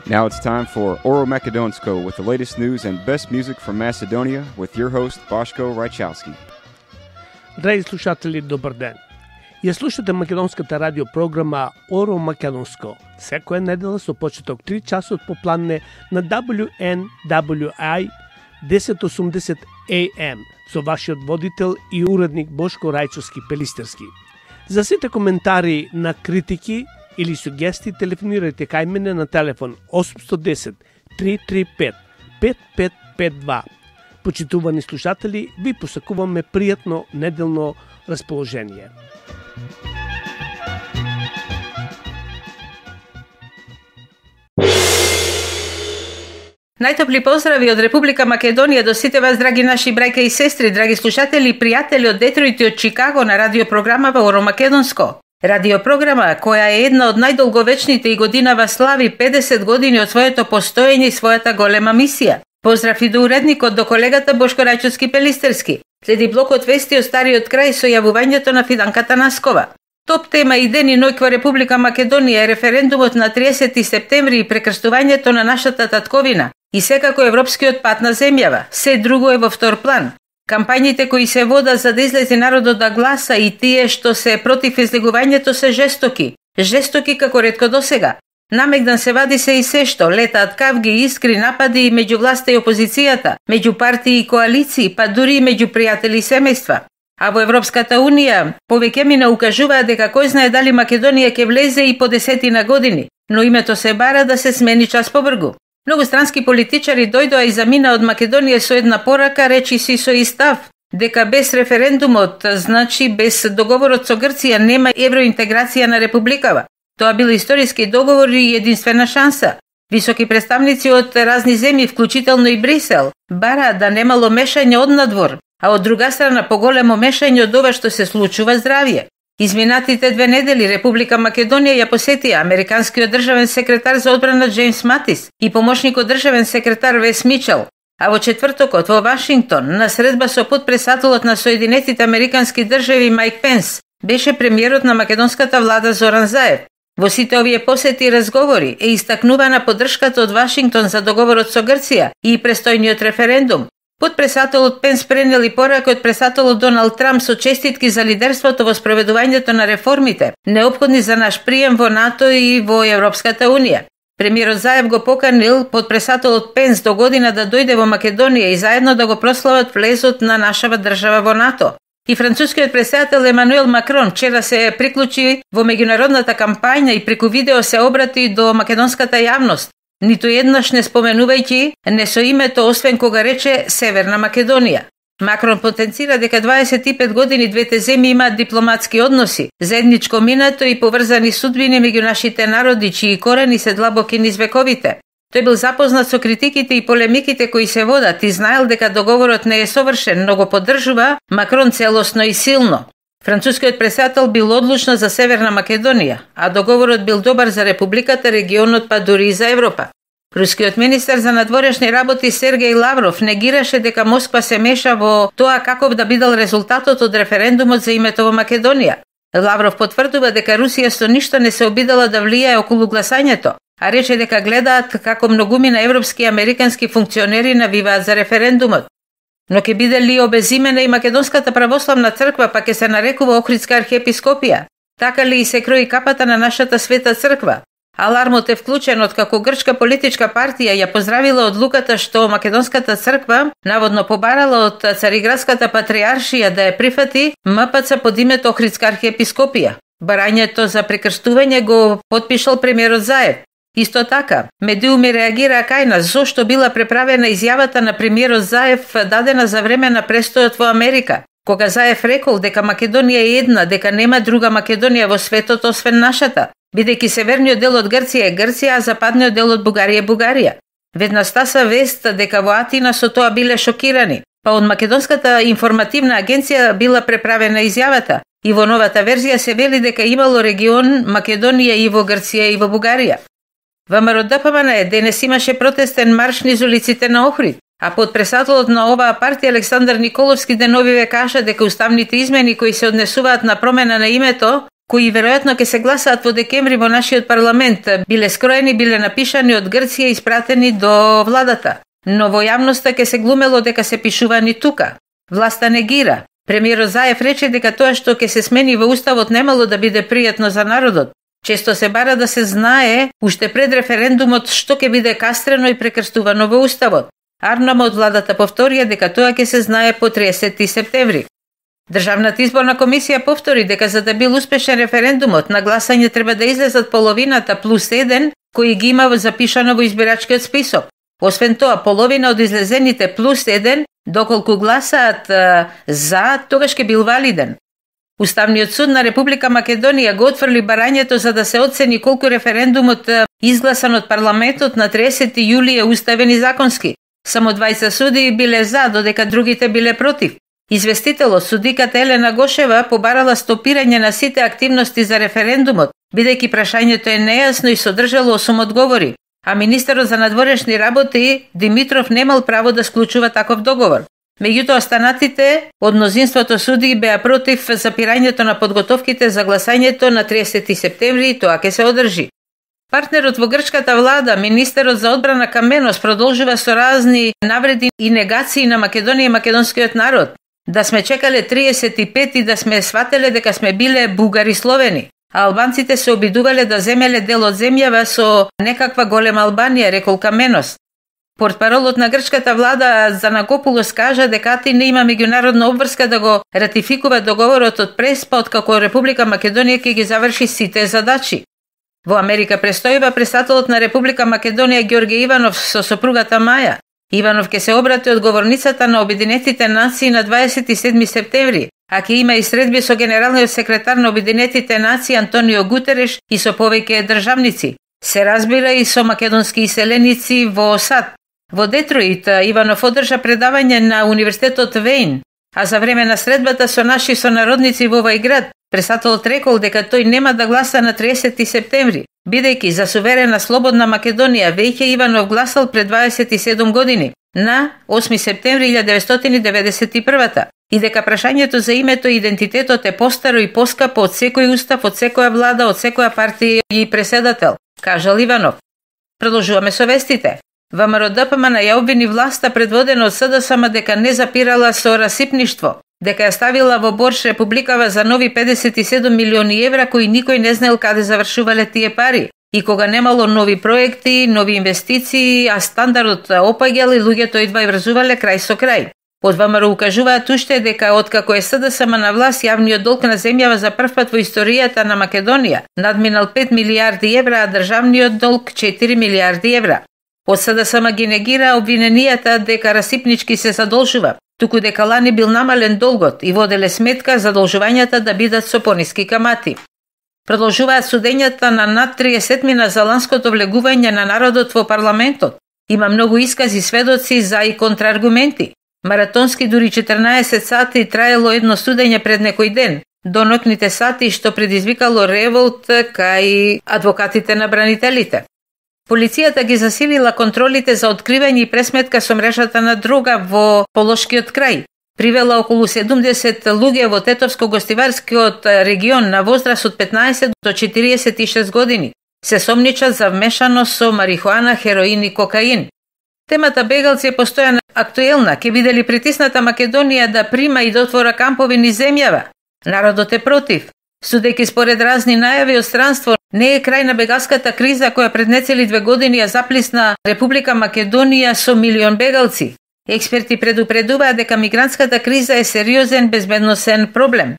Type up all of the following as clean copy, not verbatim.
Now it's time for Oro Makedonsko with the latest news and best music from Macedonia with your host Boško Rajčovski. Драги слушатели, добар ден. Ја слушате македонската радиопрограма Оро Македонско. Секоја недела со почеток 3 часот по планне на WNWI 1080 AM со вашиот водител и уредник Бошко Рајчовски Пелистерски. За сите коментари на критики или сугести телефонирајте кај мене на телефон 810 335 5552. Почитувани слушатели, ви посакуваме пријатно неделно расположение. Најтопли поздрави од Република Македонија до сите вас, драги наши брајка и сестри, драги слушатели и пријатели од Детройт и од Чикаго на радиопрограмава Оро Македонско. Радиопрограма која е една од најдолговечните и годинава слави 50 години од своето постоење и својата голема мисија. Поздрав и до уредникот, до колегата Бошко Рајчовски Пелистерски. Следи блокот вести од стариот крај со јавувањето на Фиданка Танаскова. Топ тема и ден и ноќ во Република Македонија е референдумот на 30 септември и прекрстувањето на нашата татковина и секако европскиот пат на земјава. Се друго е во втор план. Кампањите кои се водат за да излезе народот да гласа и тие што се против излегувањето се жестоки. Жестоки како ретко досега. Намегдан се вади се и се што, летаат кавги, искри, напади меѓу власта и опозицијата, меѓу партии и коалиции, па дури и меѓу пријатели и семејства. А во Европската Унија повеќе мина укажуваат дека кој знае дали Македонија ќе влезе и по 10 години, но името се бара да се смени час побргу. Многу странски политичари дојдоа и замина од Македонија со една порака, речи си со истав, дека без референдумот, значи без договорот со Грција, нема евроинтеграција на републикава. Тоа бил историски договор и единствена шанса. Високи представници од разни земји, вклучително и Брисел, бараат да немало мешање од надвор, а од друга страна поголемо мешање од ова што се случува здравје. Изминатите 2 недели Република Македонија ја посетија американскиот државен секретар за одбрана Джеймс Матис и помошникот државен секретар Вес Мичел, а во четвртокот во Вашингтон на средба со потпредседателот на Соединетите американски држави Мајк Пенс беше премиерот на македонската влада Зоран Заев. Во сите овие посети и разговори е истакнувана поддршката од Вашингтон за договорот со Грција и престојниот референдум. Потпредседателот Пенс пренел и порака од председателот Доналд Трамп со честитки за лидерството во спроведувањето на реформите, неопходни за наш прием во НАТО и во Европската Унија. Премиерот Заев го поканил потпредседателот Пенс до година да дојде во Македонија и заедно да го прослават влезот на нашава држава во НАТО. И францускиот претседател Емануел Макрон вчера се приклучи во меѓународната кампања и преку видео се обрати до македонската јавност, ниту еднаш не споменувајќи не со името, освен кога рече Северна Македонија. Макрон потенцира дека 25 години двете земји имаат дипломатски односи, заедничко минато и поврзани судбини меѓу нашите народи, чии корени се длабоки низ вековите. Тој бил запознат со критиките и полемиките кои се водат и знаел дека договорот не е совршен, но го поддржува Макрон целосно и силно. Францускиот претседател бил одлучно за Северна Македонија, а договорот бил добар за републиката, регионот, па дури и за Европа. Рускиот министер за надворешни работи Сергеј Лавров негираше дека Москва се меша во тоа каков да бидел резултатот од референдумот за името во Македонија. Лавров потврдува дека Русија со ништо не се обидела да влијае околу гласањето, а рече дека гледаат како многумина европски и американски функционери навиваат за референдумот. Но ќе биде ли обезимена и Македонската православна црква, па ќе се нарекува Охридска архиепископија? Така ли и се крои капата на нашата света црква? Алармот е вклучен откако грчка политичка партија ја поздравила одлуката што Македонската црква наводно побарала од Цариградската патриаршија да ја прифати МПЦ под името Охридска архиепископија. Барањето за прекрстување го потпишал премиерот Заев. Исто така, медиуми реагираа кај нас зошто била преправена изјавата на премиерот Заев дадена за време на престојот во Америка, кога Заев рекол дека Македонија е една, дека нема друга Македонија во светот освен нашата, бидејќи северниот дел од Грција е Грција, а западниот дел од Бугарија е Бугарија. Веднаш стаса вест дека во Атина со тоа биле шокирани, па од Македонската информативна агенција била преправена изјавата и во новата верзија се вели дека имало регион Македонија и во Грција и во Бугарија. ВМРО ДПМН денес имаше протестен марш низ улиците на Охрид, а потпредседателот на оваа партија Александар Николовски деновиве кажа дека уставните измени кои се однесуваат на промена на името кои веројатно ќе се гласаат во декември во нашиот парламент, биле скроени, биле напишани од Грција и испратени до владата. Но во јавноста ќе се глумело дека се пишувани тука. Власта негира. Премиерот Заев рече дека тоа што ќе се смени во уставот немало да биде пријатно за народот. Често се бара да се знае уште пред референдумот што ќе биде кастрено и прекрстувано во уставот. Арнама од владата повторија дека тоа ќе се знае по 30 септември. Државната изборна комисија повтори дека за да бил успешен референдумот, на гласање треба да излезат половината плюс 1 кои ги има запишано во избирачкиот список. Освен тоа, половина од излезените плюс 1, доколку гласаат за, тогаш ќе бил валиден. Уставниот суд на Република Македонија го отфрли барањето за да се оцени колку референдумот изгласан од парламентот на 30 јули е уставен и законски. Само 20 суди биле за, додека другите биле против. Известителот, судиката Елена Гошева, побарала стопирање на сите активности за референдумот, бидејќи прашањето е нејасно и содржало 8 одговори, а министерот за надворешни работи Димитров немал право да склучува таков договор. Меѓутоа, останатите од мнозинството суди беа против запирањето на подготовките за гласањето на 30 септември и тоа ќе се одржи. Партнерот во грчката влада, министерот за одбрана Каменос, продолжува со разни навреди и негации на Македонија и македонскиот народ. Да сме чекале 35 и да сме свателе дека сме биле бугари словени. А албанците се обидувале да земеле дел од земјава со некаква голема Албанија, рекол Каменос. Портпаролот на грчката влада Занакопулос кажа дека Атина има меѓународна обврска да го ратификува договорот од Преспа, откако Република Македонија ќе ги заврши сите задачи. Во Америка престојува претставителот на Република Македонија Ѓорѓе Иванов со сопругата Маја. Иванов ќе се обрати од говорницата на Обединетите нации на 27 септември, а ќе има и средби со генералниот секретар на Обединетите нации Антонио Гутереш и со повеќе државници. Се разбира и со македонски иселеници во САД. Во Детроит Иванов одржа предавање на Универзитетот Вејн, а за време на средбата со наши сонародници во овој град, претставителот рекол дека тој нема да гласа на 30 септември, бидејќи за суверена слободна Македонија веќе Иванов гласал пред 27 години, на 8 септември 1991 и дека прашањето за името и идентитетот е постаро и поскапо од секој устав, од секоја влада, од секоја партија и преседател, кажал Иванов. Продолжуваме со вестите. ВМРО ДПМН ја обвини власта предводена од СДСМ дека не запирала со расипништво, дека ја ставила во борш Републикава за нови 57 милиони евра кои никој не знаел каде завршувале тие пари и кога немало нови проекти, нови инвестиции, а стандардот опаѓал и луѓето едва и врзувале крај со крај. Од ВМРО укажуваат уште дека откако е СДСМ на власт, јавниот долг на земјава за прв пат во историјата на Македонија надминал 5 милиарди евра, а државниот долг 4 милиарди евра. Од СДСМ ги негира обвиненијата дека расипнички се задолжува, туку дека лани бил намален долгот и воделе сметка задолжувањата да бидат со пониски камати. Продолжуваат судењата на над 30 за ланското влегување на народот во парламентот. Има многу искази, сведоци за и контрааргументи. Маратонски дури 14 сати траело едно судење пред некој ден, до ноќните сати што предизвикало револт кај адвокатите на бранителите. Полицијата ги засилила контролите за откривање и пресметка со мрежата на дрога во Полошкиот крај. Привела околу 70 луѓе во Тетовско-гостиварскиот регион на возраст од 15 до 46 години. Се сомничат за вмешаност со марихуана, хероин и кокаин. Темата бегалци е постојано актуелна. Ке биде ли притисната Македонија да прима и да отвора кампови низ земјава? Народот е против. Судејќи според разни најави од странство, не е крај на бегалската криза која пред нецели 2 години ја заплисна Република Македонија со милион бегалци. Експерти предупредуваат дека мигрантската криза е сериозен безбедносен проблем.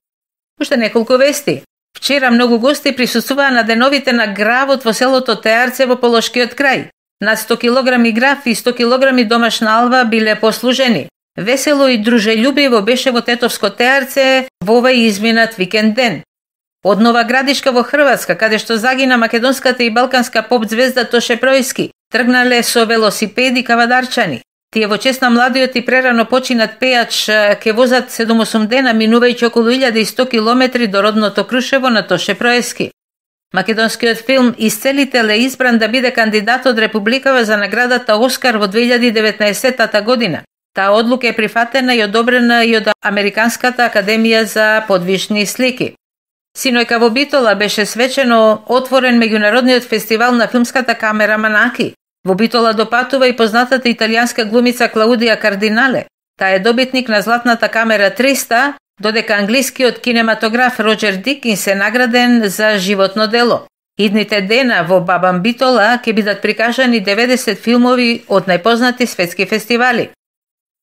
Уште неколку вести. Вчера многу гости присуствуваа на деновите на гравот во селото Теарце во Полошкиот крај. Над 100 килограми грав и 100 килограми домашна алва биле послужени. Весело и дружелюбиво беше во Тетовско Теарце во овој изминат викенд ден. Од Нова Градишка во Хрватска, каде што загина македонската и балканска поп звезда Тоше Пројски, тргнале со велосипеди кавадарчани. Тие во чест на младиот и прерано починат пејач ке возат 7-8 дена, минувајќи околу 1100 километри до родното Крушево на Тоше Пројски. Македонскиот филм Исцелител е избран да биде кандидат од Републикава за наградата Оскар во 2019 година. Таа одлука е прифатена и одобрена и од Американската академија за подвижни слики. Синојка во Битола беше свечено отворен меѓународниот фестивал на филмската камера Манаки. Во Битола допатува и познатата италијанска глумица Клаудија Кардинале. Таа е добитник на Златната камера 300, додека англискиот кинематограф Роџер Дикинс е награден за животно дело. Идните дена во Бабан Битола ќе бидат прикажани 90 филмови од најпознати светски фестивали.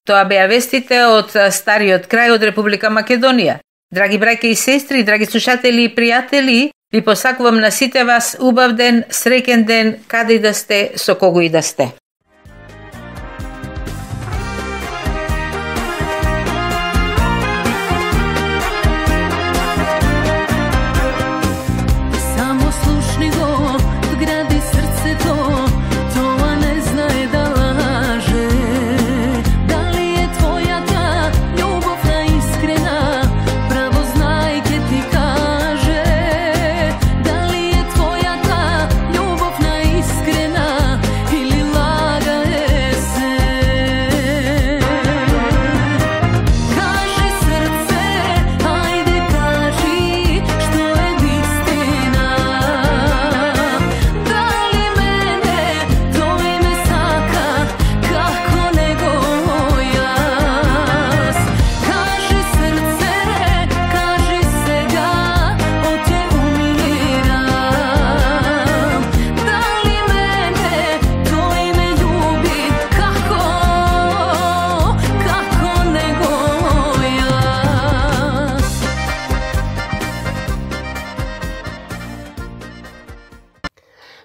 Тоа беа вестите од стариот крај од Република Македонија. Драги браќа и сестри, драги слушатели и пријатели, ви посакувам на сите вас убав ден, среќен ден, каде и да сте, со кого и да сте.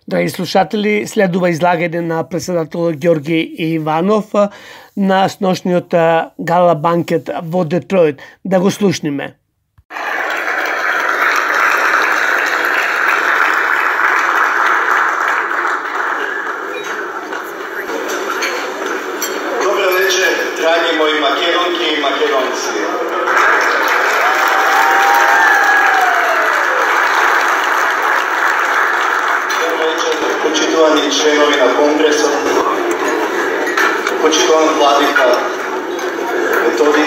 Драги слушатели, следува излагање на председателот Ѓорги Иванов на сношниот гала банкет во Детройт. Да го слушниме. Добро вечер, драги мои македонки и македонци. Почитувани членови на Конгресот, почитуван владика Методи,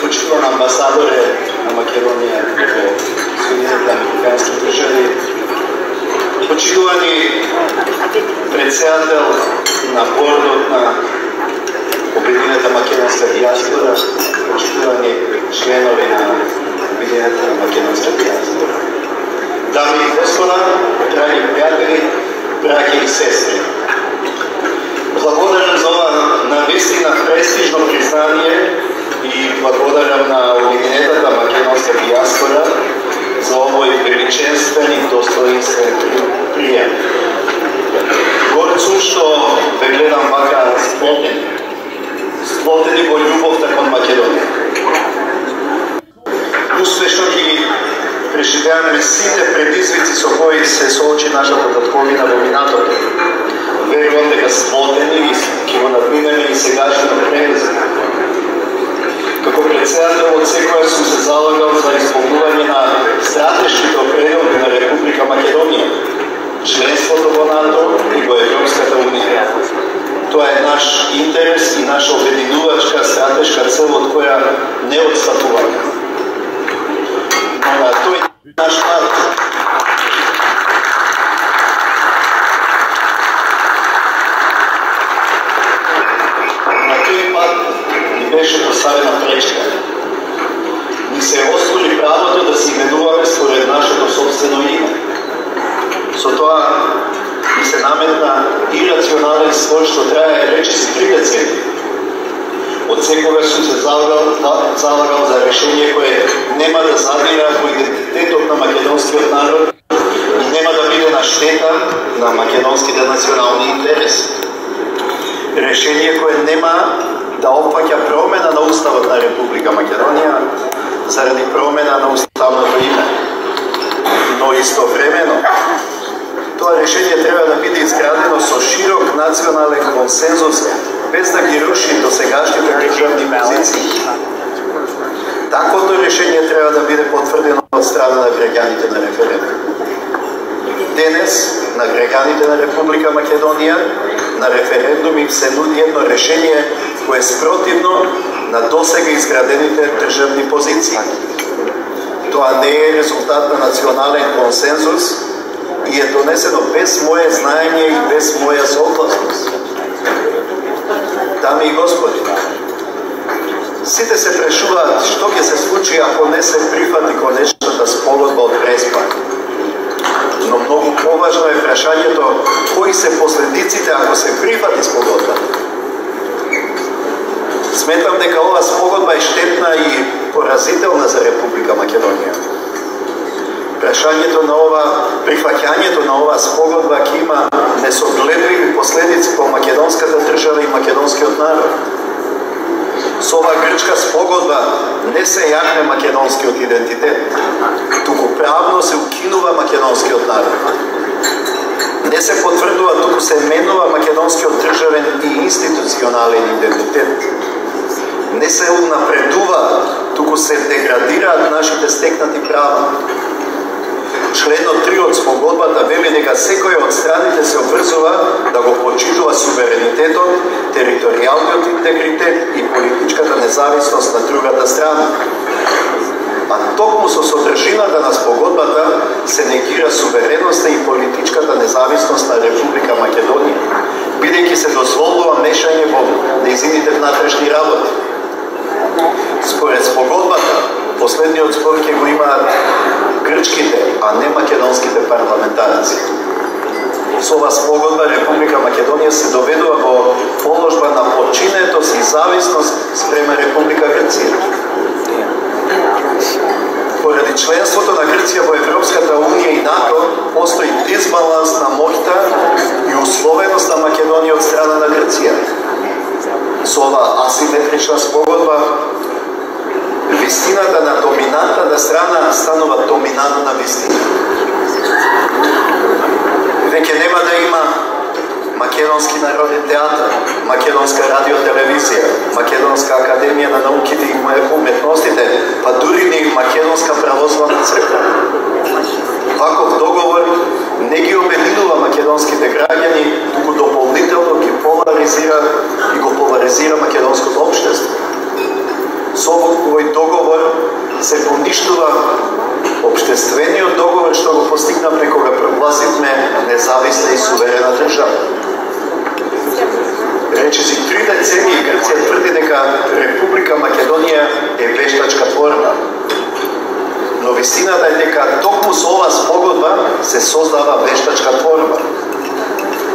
почитуван амбасадоре на Македонија во Соединетите Американски држави, почитувани председател на бордот на Обединената македонска дијаспора, почитувани членови на Обединената македонска дијаспора. Дами и господа, драги пријатели, браќа и сестри. Благодарам за ова навистина престижно признание и благодарам на Обединетата македонска дијаспора за овој величествен и достоинствен прием. Горд сум што ве гледам вака сплотени во љубовта кон Македонија. Успешно ги преживеаме сите предизвици со кои се соочи нашата татковина во минатото. Верувам дека сплотени и ќе го надминеме и сегашниот предизвик. Како председател од секоја сум се залагал за исполнување на стратешките определи на Република Македонија, членството во НАТО и во Европската унија. Тоа е наш интерес и наша обединувачка стратешка цел од која не отстапуваме. На тој наш пат ни беше поставена пречка. Ни се оствори правото да се именуваме според нашето собствено име. Со тоа ни се наметна ирационален спор што трае речиси 3 децении. Од секогаш сум се залагал за решение кое нема да задира во идентитетот на македонскиот народ и нема да биде на штета на македонските национални интереси. Решение кое нема да опфаќа промена на уставот на Република Македонија заради промена на уставното име. Но истовремено тоа решение треба да биде изградено со широк национален консензус без да ги руши досегашните државни позиции. Таквото решение треба да биде потврдено од страна на граѓаните на референдум. Денес, на граѓаните на Република Македонија, на референдум им се нуди едно решение кое е спротивно на досега изградените државни позиции. Тоа не е резултат на национален консензус и е донесено без моје знаење и без моја согласност. Дами и господи, сите се прашуваат што ќе се случи ако не се прифати конечната спогодба од Преспа. Но многу поважно е прашањето кои се последиците ако се прифати спогодбата. Сметам дека ова спогодба е штетна и поразителна за Република Македонија. Прашањето на прифаќањето на ова спогодба ќе има несогледливи последици по македонската држава и македонскиот народ. Со ова грчка спогодба не се јакне македонскиот идентитет, туку правно се укинува македонскиот народ. Не се потврдува, туку се менува македонскиот државен и институционален идентитет. Не се унапредува, туку се деградираат нашите стекнати права. Членот 3 од спогодбата вели дека секој од страните се обврзува да го почитува суверенитетот, територијалниот интегритет и политичката независност на другата страна. А токму со содржината на спогодбата се негира сувереноста и политичката независност на Република Македонија, бидејќи се дозволува мешање во нејзините внатрешни работи. Според спогодбата, последниот збор ќе го имаат грчките, а не македонските парламентарци. Со ова спогодба Република Македонија се доведува во положба на подчинетост и зависност спрема Република Грција. Поради членството на Грција во Европската Унија и НАТО, постои дисбаланс на моќта и условеност на Македонија од страна на Грција. Со ова асиметрична спогодба, вистината на доминантната страна станува доминантна вистина. Веќе нема да има Македонски народен театар, Македонска радиотелевизија, Македонска академија на науките и уметностите, па дури ни Македонска православна црква. Ваков договор не ги обединува македонските граѓани, туку дополнително ги поларизира и го поларизира македонското општество. Со овој договор се поништува општествениот договор што го постигнавме кога прогласивме независна и суверена држава. Речиси 3 децении Грција тврди дека Република Македонија е вештачка творба. Но вистината е дека токму со ова спогодба се создава вештачка творба,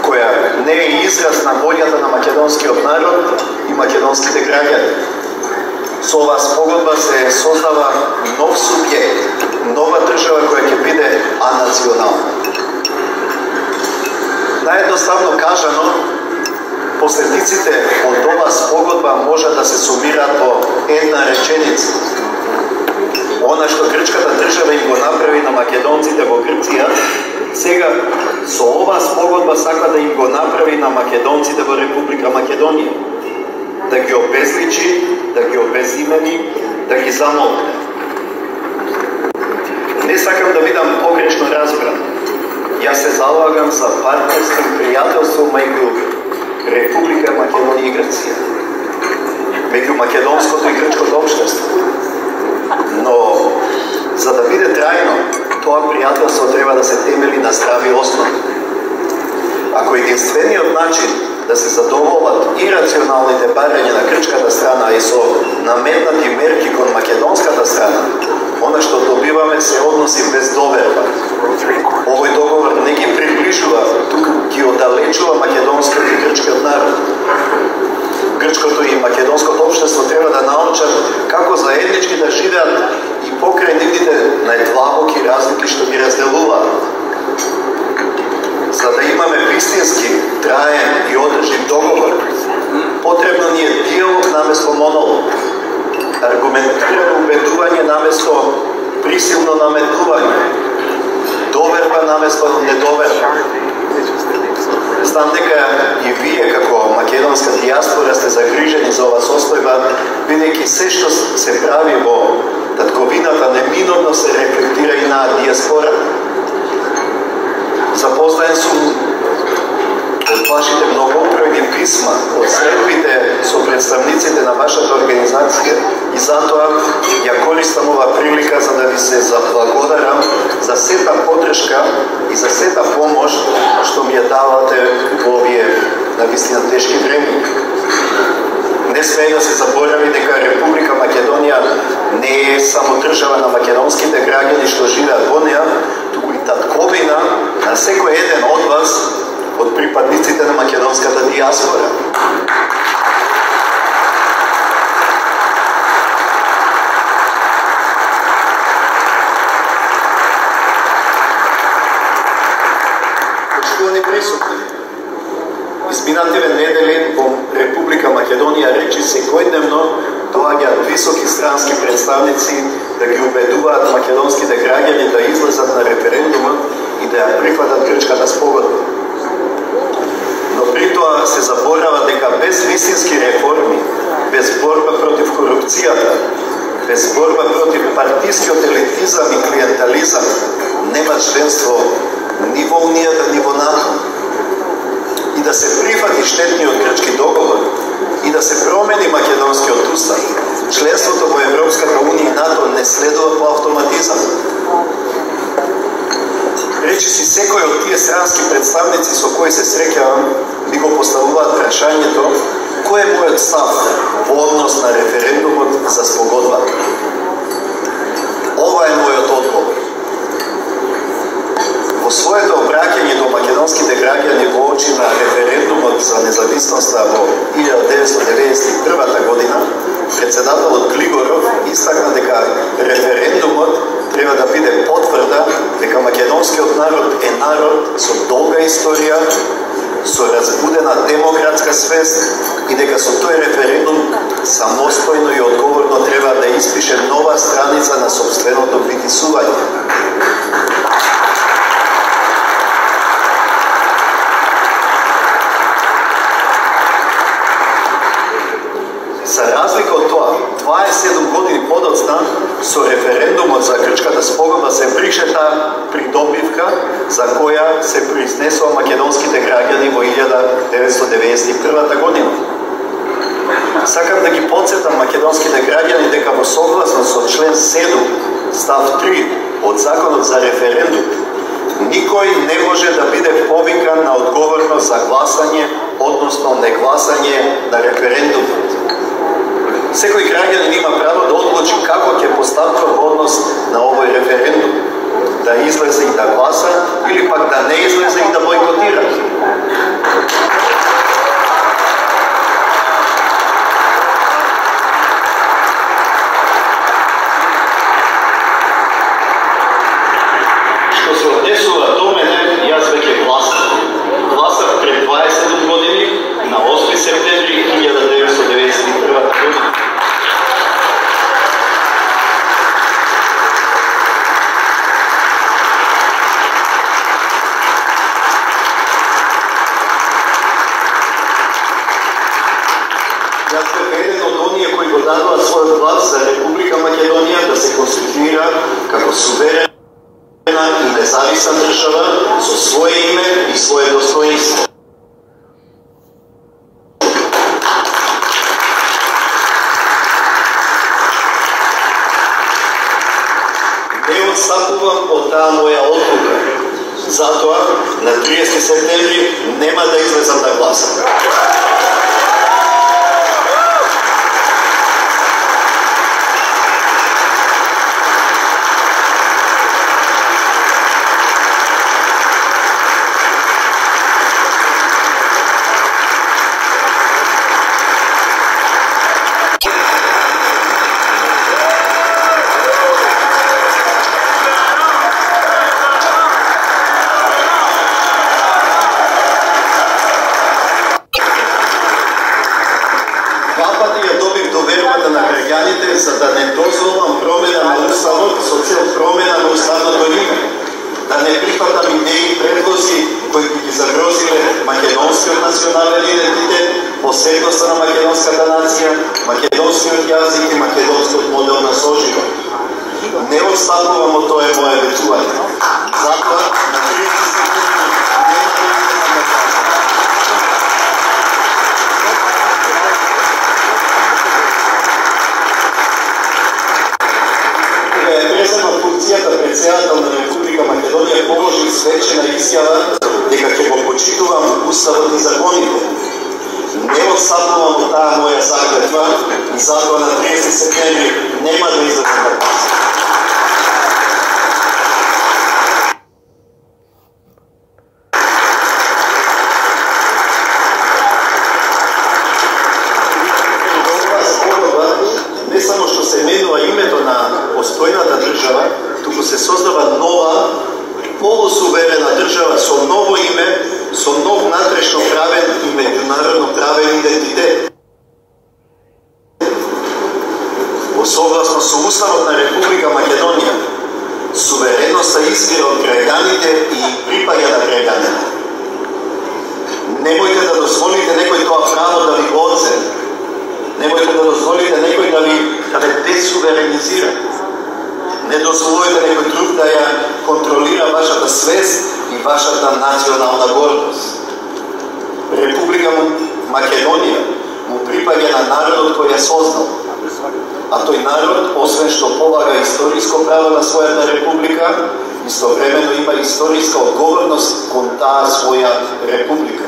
која не е израз на волјата на македонскиот народ и македонските граѓани. Со ова спогодба се создава нов субјект, нова држава која ќе биде анационална. Наедноставно кажано, последиците од ова спогодба можат да се сумираат во една реченица. Она што грчката држава им го направи на македонците во Грција, сега со ова спогодба сака да им го направи на македонците во Република Македонија. Да ги обезличи, да ги обезимени, да ги замолкне. Не сакам да бидам погрешно разбран. Јас се залагам за партнерство и пријателство меѓу Република Македонија и Грција, меѓу македонското и грчкото општество. Но за да биде трајно, тоа пријателство треба да се темели на здрави основи. Ако единствениот начин да се задоволат и рационалните барања на грчката страна и со наметнати мерки кон македонската страна, она што добиваме се односи без доверба. Овој договор не ги приближува, туку ги оддалечува македонскиот и грчкиот народ. Грчкото и македонското општество треба да научат како заеднички да живеат и покрај нивните најдлабоки разлики што ги разделуваат. За да имаме вистински, траен и одржив договор, потребно ни е диалог наместо монолог, аргументирано убедување наместо присилно наметнување, доверба наместо недоверба. Знам дека и вие како македонска диаспора сте загрижени за ова состојба, бидејќи се што се прави во татковината неминовно се рефлектира и на диаспора. Запознаен сум од вашите многобројни писма, од средбите со представниците на вашата организација И затоа ја користам ова прилика за да ви се заблагодарам за сета подршка и за сета помош што ми ја давате во овие навистина тешки времења. Не смее да се заборави дека Република Македонија не е само држава на македонските граѓани што живеат во неа, туку и татковина на секој еден од вас, од припадниците на македонската диаспора. Почитувани присутни, изминативе недели во Република Македонија речи секојдневно доаѓаат високи странски представници да ги убедуваат македонските граѓани да излезат на референдумот и да ја прифатат грчката спогодба. Но при тоа се заборава дека без вистински реформи, без борба против корупцијата, без борба против партискиот елитизам и клиентализам, нема членство ни во Унијата, ни во НАТО. И да се прифати штетниот грчки договор и да се промени македонскиот устав, членството во Европската Унија и НАТО не следува по автоматизам. Речи си секој од тие странски представници со кои се среќавам ми го поставуваат прашањето кој е мојот став во однос на референдумот за спогодба. Ова е мојот одговор. Во своето обраќање до македонските граѓани во очи на референдумот за независноста во 1991 година, председателот Глигоров истакна дека референдумот треба да биде потврда дека македонскиот народ е народ со долга историја, со разбудена демократска свест и дека со тој референдум самостојно и одговорно треба да испише нова страница на сопственото битисување. За разлика од тоа, 27 години подоцна, со референдумот за грчката спогодба се брише таа придобивка за која се произнесува македонските граѓани во 1991 година. Сакам да ги потсетам македонските граѓани дека во согласност со член 7, став 3 од Законот за референдум, никој не може да биде повикан на одговорност за гласање, односно негласање на референдумот. Секој граѓанин има право да одлучи како ќе постапува во однос на овој референдум, да излезе и да гласа или пак да не излезе и да бойкотира. Што се однесува до мене, јас веќе гласав. Гласав пред 27 години на 8 септември 1991 година. Дадува својот глас за Република Македонија да се конституира како суверена и независна држава со свое име и свое достоинство. Не отстапувам од таа моја одлука. Затоа, на 30 септември нема да излезам да гласам. За да не дозволам промена на уставот со цел промена на уставното име, да не прифатам идеи и предлози кои ги загрозиле македонскиот национален идентитет, посебноста на македонската нација, македонскиот јазик и македонскиот модел на соживот. Не отстапувам од тоа моје ветување. Затоа, на 30 септември изјава дека ќе го почитувам уставот и законите. Не отстапувам од таа моја заклетва и затоа на 30 септември нема да излезам на пазар. Не само што се менува името на постојната држава, туку се создава нова, полусуверена држава со ново име, со нов натрешно правен и меѓународно правен идентитет. Во согласно со Уставот на Република Македонија, сувереноста извира од граѓаните и припаѓа на граѓаните. Немојте да дозволите некој тоа право да ви го одземе. Немојте да дозволите некој да ве десуверенизира. Не дозволите некој друг да ја контролира вашата свест и вашата национална гордост. Република Македонија му припаѓа на народот кој ја создал. А тој народ, освен што полага историско право на својата република, истовремено има историска одговорност кон таа своја република.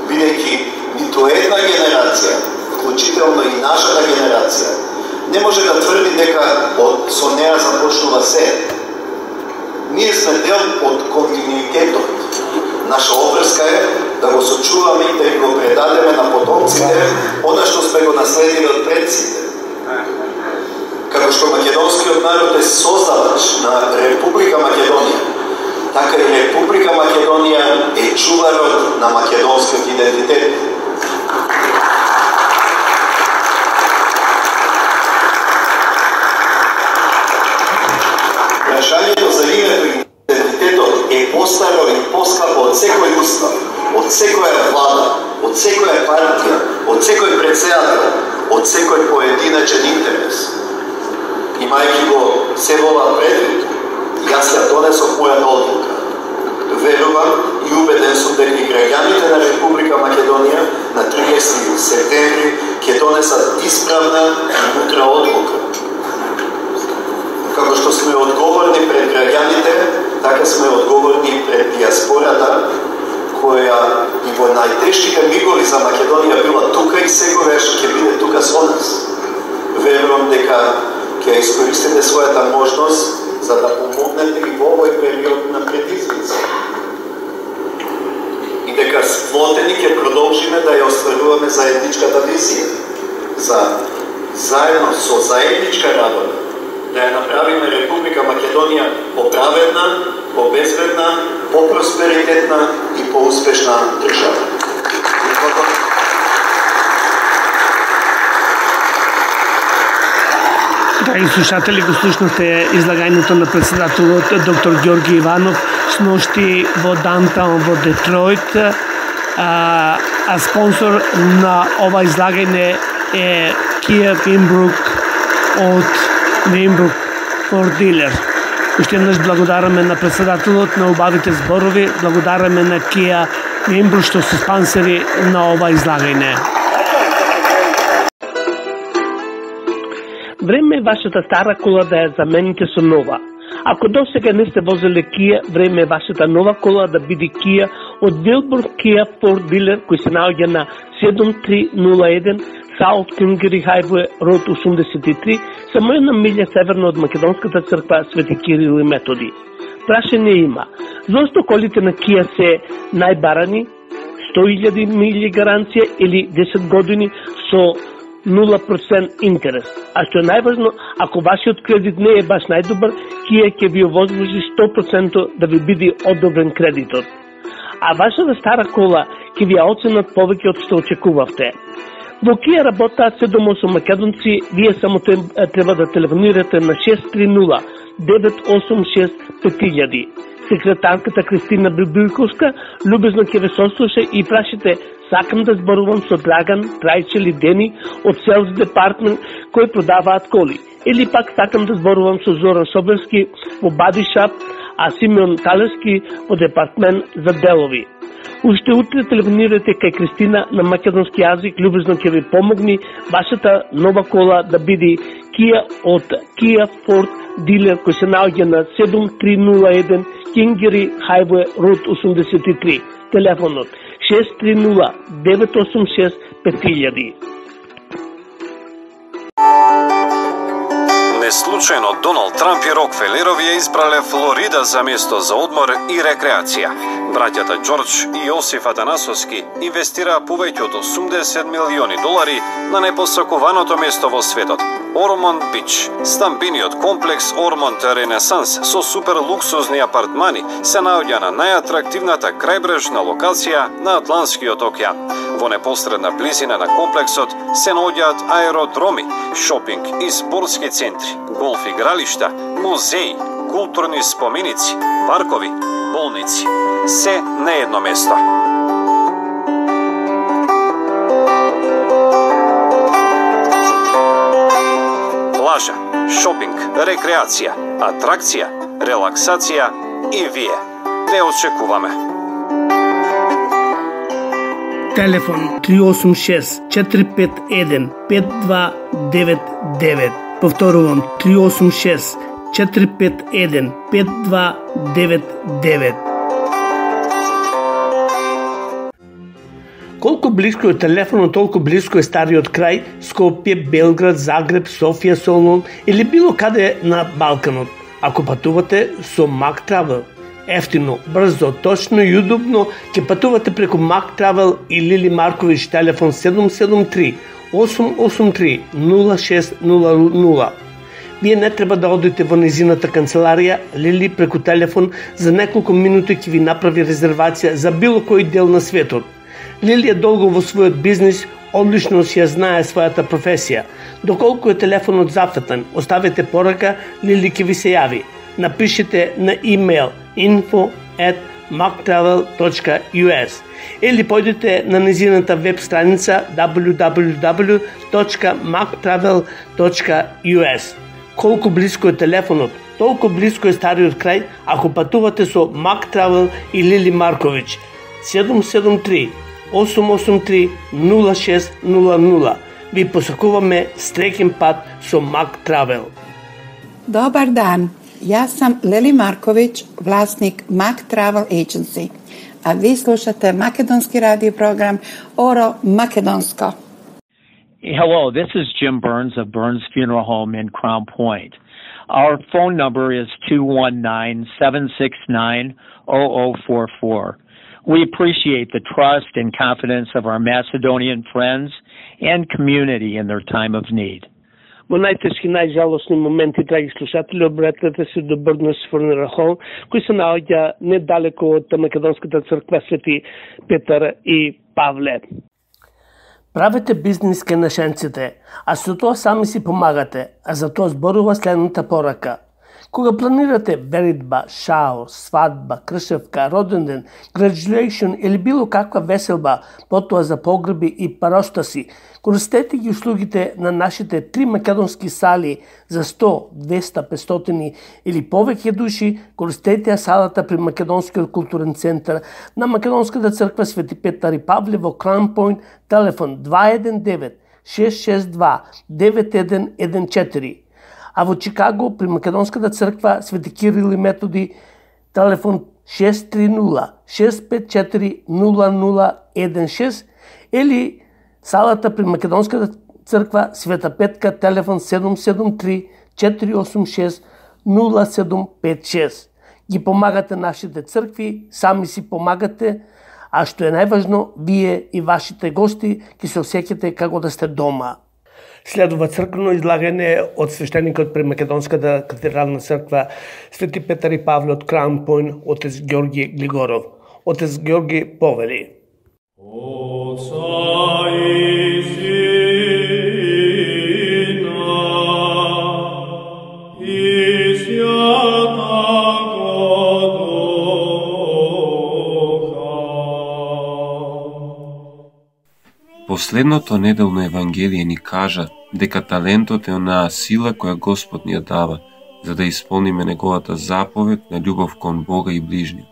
Бидејќи ниту една генерација, вклучително и нашата генерација, не може да тврди дека со неа започнува се. Ние сме дел од континуитетот. Наша обврска е да го сочуваме и да го предадеме на потомците она што сме го наследили од предците. Како што македонскиот народ е создавач на Република Македонија, така и Република Македонија е чуварот на македонскиот идентитет. Прашањето за името и идентитетот е постаро и поскапо од секој устав, од секоја влада, од секоја партија, од секој председател, од секој поединачен интерес. Имајќи го се ова предвид, јас ја донесов мојата одлука. Верувам и убеден сум дека и граѓаните на Република Македонија на 30 септември ќе донесат исправна и мудра одлука. Како што сме одговорни пред граѓаните, така сме одговорни пред диаспората, која и во најтешките мигови за Македонија била тука и секогаш ќе биде тука со нас. Верувам дека ќе искористите својата можност за да помогнете и во овој период на предизвици. И дека сплотени ќе продолжиме да ја остваруваме заедничката визија, за заедно со заедничка работа да ја направиме Република Македонија поправедна, побезбедна, попросперитетна и поуспешна држава. Драги слушатели, го слушнате излагањето на председателот доктор Ѓорги Иванов сношти во Даунтаун во Детройт, а спонсор на ова излагање е Kia Winbrook од Winbrook Ford Dealer. Уште еднаш благодараме на председателот на убавите зборови, благодараме на Kia Winbrook што се спонсори на ова излагање. Време е вашата стара кола да ја замените со нова. Ако досега не сте возели Kia, време е вашата нова кола да биде Kia од Winbrook Kia Ford Dealer, кој се наоѓа на 7301 South Kingery Highway Road 83, само една милја северно од македонската црква Свети Кирил и Методи. Прашање има: зошто колите на Kia се најбарани, 100.000 милји гаранција или 10 години со 0% интерес? А што е најважно, ако вашиот кредит не е баш најдобар, Kia ќе ви овозможи 100% да ви биде одобрен кредитот. А вашата стара кола ќе ви ја оценат повеќе од што очекувавте. Во Kia работаат 7-8 македонци, вие само треба да телефонирате на 630-986-5000. Секретарката Кристина Бибилковска любезно ќе ве сослуша и прашите: сакам да зборувам со Драган, Трајче или Дени од Sales Department кои продаваат коли. Или пак сакам да зборувам со Зоран Соберски во Body Shop, а Симеон Талески во Департмент за делови. Уште утре телефонирате кај Кристина на македонски јазик, любезно ќе ви помогни вашата нова кола да биде Kia од Kia Ford Dealer, кој се наоѓа на 7301 Кингери Хајве Рут 83. Телефонот 630 986 5000. Неслучајно Доналд Трамп и Рокфелерови ја избрале Флорида за место за одмор и рекреација. Браќата Џорџ и Јосиф Атанасовски инвестираа повеќе од $80 милиони на непосакуваното место во светот – Ормонд Бич. Стамбениот комплекс Ормонд Ренесанс со супер луксузни апартмани се наоѓа на најатрактивната крајбрежна локација на Атлантскиот океан. Во непосредна близина на комплексот се наоѓаат аеродроми, шопинг и спортски центри, голф игралишта, музеи, културни споменици, паркови, болници. Се на едно место. Плажа, шопинг, рекреација, атракција, релаксација и вие. Ве очекуваме. Телефон 386 451 5299. Повторувам 386 451 5299. Колку близко е телефонот, толку близко е стариот крај, Скопје, Белград, Загреб, Софија, Солун или било каде на Балканот. Ако патувате со Mack Travel, ефтино, брзо, точно и удобно ќе патувате преку Mack Travel и Лили Марковиќ, телефон 773 883 0600. Вие не треба да одите во незината канцеларија, Лили преку телефон за неколку минути ќе ви направи резервација за било кој дел на светот. Лили е долго во својот бизнис, одлично си ја знае својата професија. Доколку е телефонот зафатен, оставете порака, Лили ќе ви се јави. Напишете на имейл info@macktravel.us или појдете на незината веб страница www.macktravel.us. Колку близко е телефонот, толку близко е стариот крај ако патувате со Mack Travel и Лили Марковиќ. 773 883 0600. Ви посакуваме среќен пат со Mack Travel. Dobar dan, ja sam Lili Marković, vlasnik Mack Travel Agency, a vi slušate makedonski radio program Oro Makedonsko. Hello, this is Jim Burns of Burns Funeral Home in Crown Point. Our phone number is 219-769-0044. We appreciate the trust and confidence of our Macedonian friends and community in their time of need. Во најтешки, најжалосни моменти, драги слушатели, обратете се до Burns Funeral Home, кој се наоѓа недалеко од Македонската црква Свети Петар и Павле. Правете бизнис кај нашенците, а со тоа сами си помагате, а за тоа зборува следната порака. Кога планирате веридба, шао, свадба, кршевка, роденден, graduation или било каква веселба, потоа за погреби и паростаси, користете ги услугите на нашите 3 македонски сали за 100, 200, 500 или повеќе души, користете ја салата при Македонскиот културен центар на Македонската црква Свети Петар и Павле во Crown Point, телефон 219-662-9114. А во Чикаго при Македонската црква Свети Кирил и Методи, телефон 630-654-0016 или салата при Македонската црква Света Петка, телефон 773-486-0756. Ги помагате нашите цркви, сами си помагате, а што е најважно, вие и вашите гости ќе се осеќате како да сте дома. Следува црквено излагање од свештеникот при Македонската катедрална црква Свети Петар и Павле од Crown Point, отец Георги Глигоров. Отец Георги повели. Последното неделно Евангелие ни кажа дека талентот е онаа сила која Господ ни ја дава за да исполниме неговата заповед на љубов кон Бога и ближниот.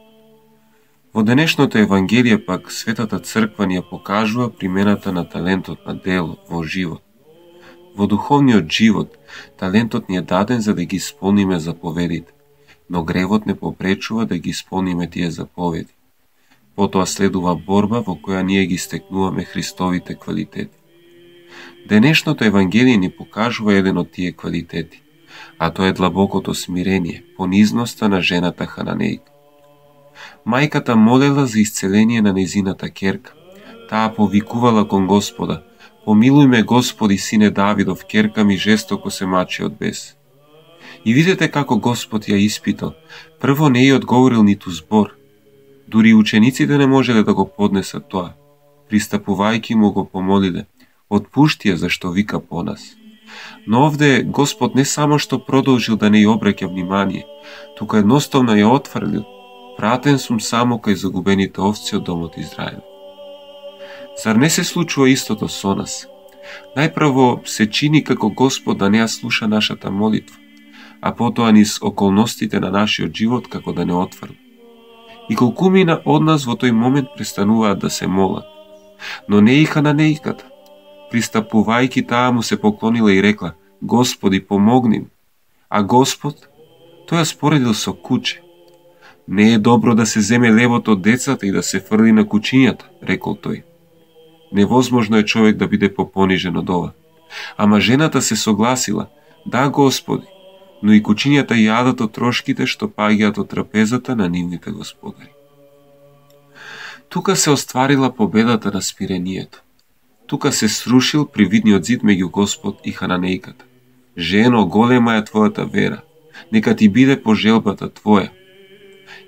Во денешното Евангелие пак Светата Црква ни ја покажува примената на талентот на дело во живот. Во духовниот живот талентот ни е даден за да ги исполниме заповедите. но гревот не попречува да ги исполниме тие заповеди. Потоа следува борба во која ние ги стекнуваме Христовите квалитети. Денешното Евангелие ни покажува еден од тие квалитети, а тоа е длабокото смирение, понизноста на жената Хананејка. Мајката молела за исцеление на нејзината ќерка. Таа повикувала кон Господа: "Помилуј ме, Господи, сине Давидов, ќерка ми жестоко се мачи од бес." И видете како Господ ја испитал. Прво не ја одговорил ниту збор. Дури учениците не можеле да го поднесат тоа. Пристапувајќи му го помолиле: "Отпушти ја зашто вика по нас." Но овде Господ не само што продолжил да не ја обраќа внимание, туку едноставно ја отфрлил: "Пратен сум само кај загубените овци од домот Израел." Зар не се случува истото со нас? Најпрво се чини како Господ да не ја слуша нашата молитва, а потоа низ околностите на нашиот живот како да не отфрли. И колкумина од нас во тој момент престануваат да се молат. Но не и Хананејката. Пристапувајќи, таа му се поклонила и рекла: "Господи, помогни ми." А Господ, тој ја споредил со куче. "Не е добро да се земе левот од децата и да се фрли на кучињата," рекол тој. Невозможно е човек да биде попонижен од ова. Ама жената се согласила: "Да, Господи," но и кучињата јадат од трошките што паѓаат од трапезата на нивните господари. Тука се остварила победата на смирението. Тука се срушил привидниот зид меѓу Господ и Хананејката. "Жено, голема е твојата вера, нека ти биде по желбата твоја."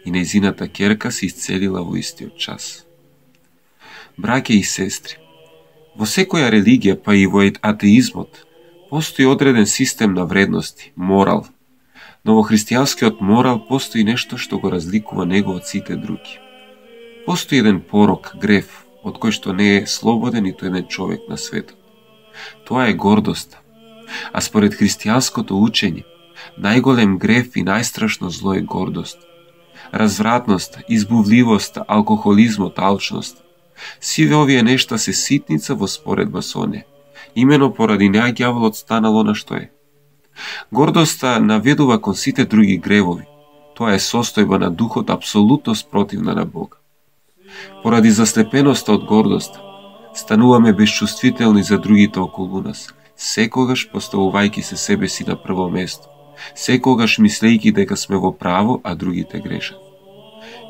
И нејзината ќерка се исцелила во истиот час. Браќе и сестри, во секоја религија, па и во атеизмот, постои одреден систем на вредности, морал. Но во христијанскиот морал постои нешто што го разликува него од сите други. Постои еден порок, грев, од кој што не е слободен ниту еден човек на светот. Тоа е гордоста. А според христијанското учење, најголем грев и најстрашно зло е гордост. Развратноста, избувливоста, алкохолизмот, алчност. Сиве овие нешта се ситница во споредба со не. Имено поради неа ѓаволот станал она што е. Гордоста наведува кон сите други гревови. Тоа е состојба на духот апсолутно спротивна на Бога. Поради заслепеноста од гордоста, стануваме безчувствителни за другите околу нас, секогаш поставувајќи се себе си на прво место, секогаш мислејќи дека сме во право, а другите грешат.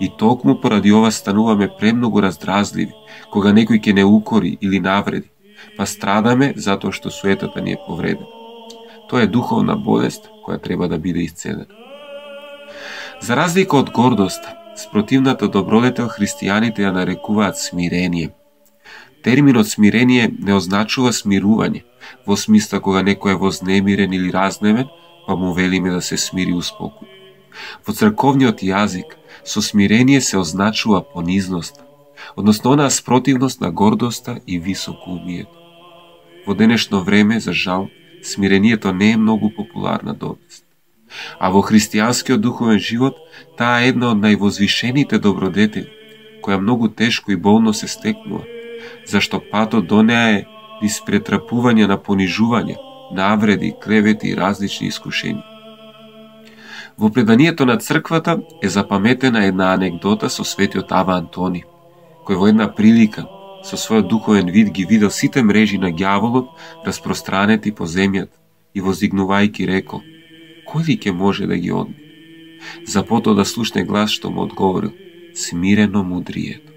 И токму поради ова стануваме премногу раздразливи, кога некој ќе не укори или навреди, па страдаме затоа што суетата ни е повредена. Тоа е духовна болест која треба да биде исцелена. За разлика од гордоста, спротивната добродетел христијаните ја нарекуваат смирение. Терминот смирение не означува смирување, во смисла кога некој е вознемирен или разневен, па му велиме да се смири успокој. Во црковниот јазик, со смирение се означува понизноста, односно онаа спротивност на гордоста и високоумието. Во денешно време, за жал, смирението не е многу популарна доблест. А во христијанскиот духовен живот, таа е една од највозвишените добродетели, која многу тешко и болно се стекнува, зашто патот до неа е низ претрапување на понижување, навреди, клевети и различни искушенија. Во преданието на црквата е запаметена една анекдота со светиот Ава Антони, кој во една прилика со својот духовен вид ги видел сите мрежи на ѓаволот распространети по земјата и воздигнувајќи рекол: "Кој ли ќе може да ги одмени?" За потоа да слушне глас што му одговорил: "Смирено мудрието."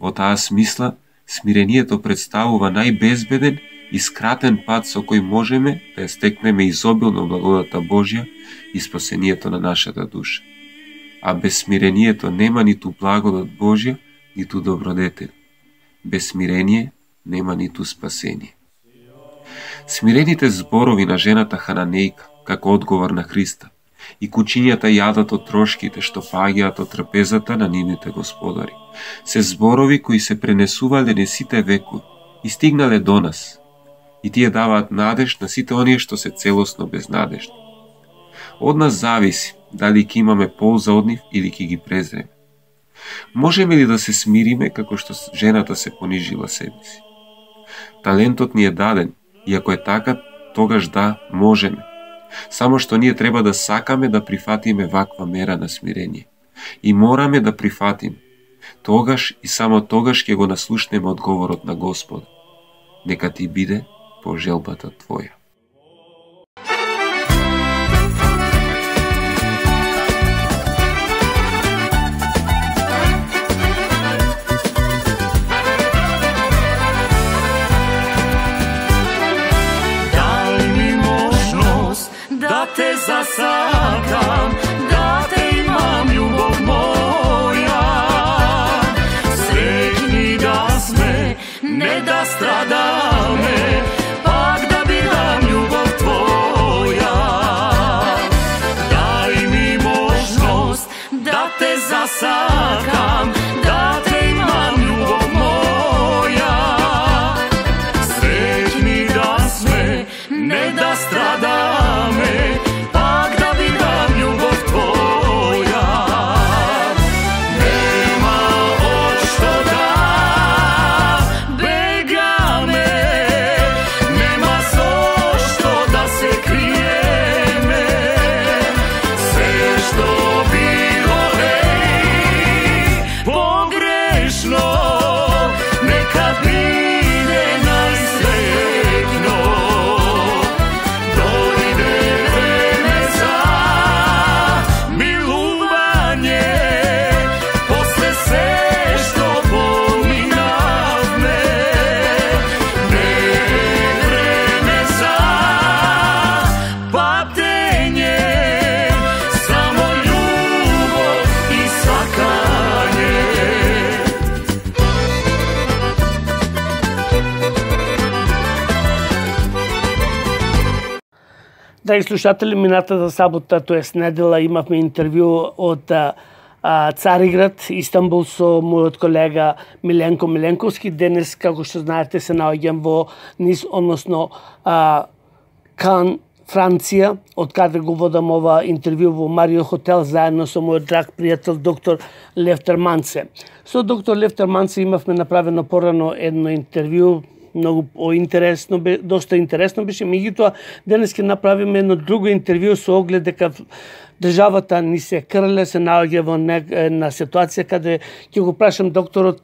Во таа смисла, смирението представува најбезбеден и скратен пат со кој можеме да ја стекнеме изобилно благодата Божја и спасението на нашата душа. А без смирението нема ниту благодат Божја, ниту добродетел. Без смирение нема ниту спасение. Смирените зборови на жената Хананејка, како одговор на Христа, и кучињата јадат од трошките што паѓаат од трапезата на нивните господари, се зборови кои се пренесувале низ сите векови и стигнале до нас. И тие даваат надеж на сите оние што се целосно безнадежни. Од нас зависи дали ќе имаме полза од нив или ќе ги презреме. Можеме ли да се смириме како што жената се понижила себе си? Талентот ни е даден и ако е така, тогаш да, можеме. Само што ние треба да сакаме да прифатиме ваква мера на смирение. И мораме да прифатиме. Тогаш и само тогаш ќе го наслушнеме одговорот на Господ. Нека ти биде по желбата твоја. Te zasakam, da te imam ljubov moja. Sretni da sme, ne da stradame, pak da bi dam ljubav tvoja. Daj mi možnost da te zasakam, da te imam ljubov moja. Sretni da sme, ne da stradame, Драги слушатели, минатата сабота, тоест недела, имавме интервју од Цариград, Истанбул, со мојот колега Миленко Миленковски. Денес, како што знаете, се наоѓам во Низ, односно Кан, Франција, од каде го водам ова интервју во Марио Хотел, заедно со мојот драг пријател доктор Левтер Манце. Со доктор Левтер Манце имавме направено порано едно интервју, многу интересно, доста интересно беше, меѓутоа денес ќе направиме едно друго интервју со оглед дека државата ни се крле, се наоѓа во една ситуација каде ќе го прашам докторот